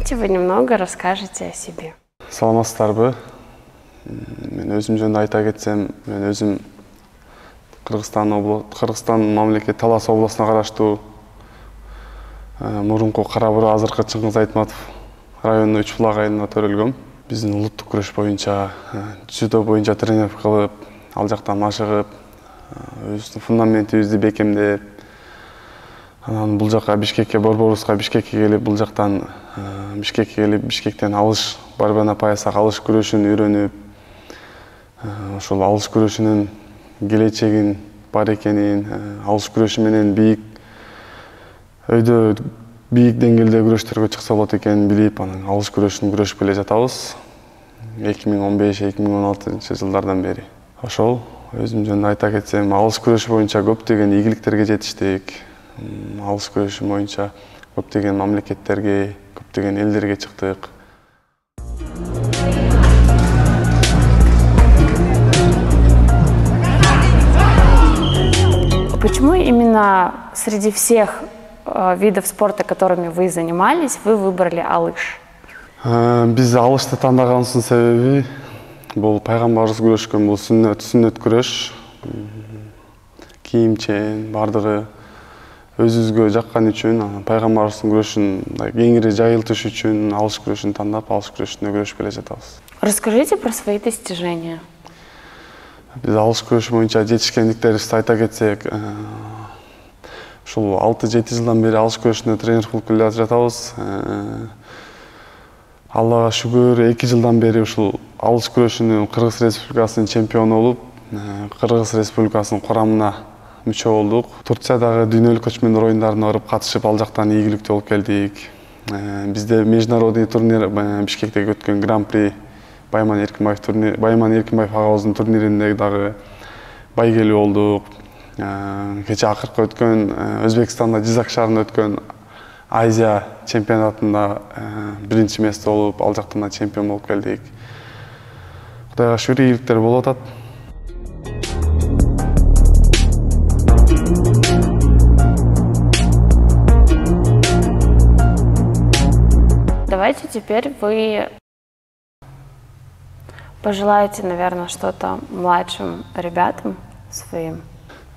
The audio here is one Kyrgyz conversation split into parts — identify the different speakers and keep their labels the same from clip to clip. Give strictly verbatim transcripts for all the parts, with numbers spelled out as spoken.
Speaker 1: Давайте вы немного расскажете о себе.
Speaker 2: Саламатсыздарбы? Мен өзүм жөнүндө айта кетсем, мен өзүм Кыргызстан областы, Кыргызстан мамлекет Талас областына караштуу мурунку Кара Бура, азыркы Чыңгыз Айтматов районунун Үч Булак айылына төрөлгөм. Биздин улуттук күрөш боюнча, дзюдо боюнча тренер кылып, ал жакта машыгып, өзүбүздүн фундаментибизди бекемдеп, анан бул жака Бишкекке, Борборуска, Бишкекке келип, бул жактан Бишкекке келип, Бишкектен алыш, барбана паясак алыш күрөшүн үйрөнүп, ошол алыш күрөшүнүн келечегин бар экенин, алыш күрөшү менен бийик өйдө бийик деңгээлде күрөштөргө чыкса болот экенин билип, анан алыш күрөшүн күрөшүп келе жатабыз. эки миң он беш эки миң он алтынчы жылдардан бери. Ошол өзүм жөнүндө айта кетсем, алыш күрөшү боюнча көптөгөн ийгиликтерге жетиштик. Алыш күрөшү боюнча көптөгөн мамлекеттерге, көптөгөн элдерге чыктык.
Speaker 1: Почему именно среди всех видов спорта, которыми вы занимались, вы выбрали алыш?
Speaker 2: Биз алышты тандагансынын себеби бул пайгамбарыбыз күрөшкөн, бул сүннөт, сүннөт күрөш. Кийимчен, бардыгы өзүбүзгө жаккан үчүн, пайгамбарыбыздын күрөшүн кеңири жайылтыш үчүн алыш күрөшүн тандап, алыш күрөшүндө күрөшүп келе жатабыз.
Speaker 1: Расскажите про свои достижения.
Speaker 2: Биз алыш күрөшү боюнча жетишкендиктерибизди айта кетсек, ушул алты жети жылдан бери алыш күрөшүндө тренер кылып келе жатабыз. Аллага шүгүр, эки жылдан бери ушул алыш күрөшүнүн Кыргыз Республикасынын чемпиону болуп, Кыргыз Республикасынын курамына мүчө болдук. Турциядагы дүйнөлүк көчмөндөр оюндарына барып катышып, ал жактан ийгиликтүү болуп келдик. Бизде международный турнир Бишкектеги өткөн Гран-при Байман Эркинбаев турнир, Байман Эркинбаев агабыздын турниринде дагы байгелүү болдук. Кече акыркы өткөн Өзбекстанда Жизак шаарында өткөн Азия чемпионатында биринчи место болуп, ал жактан да чемпион болуп келдик. Кудайга шүгүр, ийгиликтер болуп атат.
Speaker 1: Давайте теперь вы пожелаете, наверное, что-то младшим ребятам своим.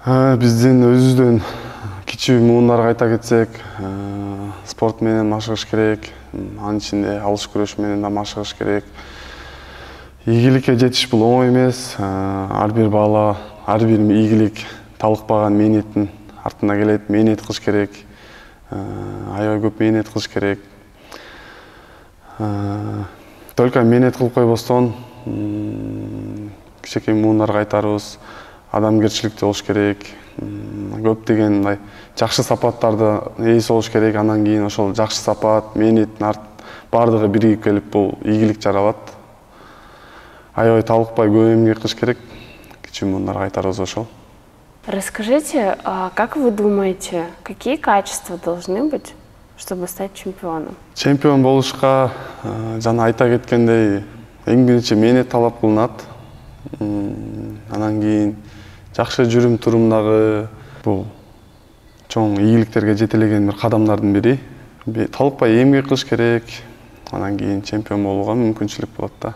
Speaker 2: Биздин өзүбүздөн кичүү муундарга айта кетсек, спорт менен машыгыш керек, анын ичинде алыш күрөш менен да машыгыш керек. Ийгиликке жетиш бул оңой эмес. Ар бир бала, ар бир ийгилик талыкпаган мээнеттин артында келет. Мээнет кылыш керек. Аябай көп мээнет кылыш керек. Только мээнет кылып койбостон, кичинекей муундарга айтарыбыз, адамгерчиликтүү болуш керек. Көптөгөн мындай жакшы сапаттарды ээси болуш керек. Андан кийин ошол жакшы сапат, мээнеттин бардыгы биригип келип бул ийгилик жаралат. Аябай талыкпай көп эмгек кылыш керек. Кичүү муундарга айтарыбыз ошол.
Speaker 1: Расскажите, как вы думаете, какие качества должны быть, чтобы стать чемпионом?
Speaker 2: Чемпион болушка жана айта кеткендей, эң биринчи мээнет талап кылынат. Анан кийин жакшы жүрүм турумдагы бул чоң ийгиликтерге жетелеген бир кадамдардын бири. Талыкпай эмгек кылыш керек. Анан кийин чемпион болууга мүмкүнчүлүк болот да.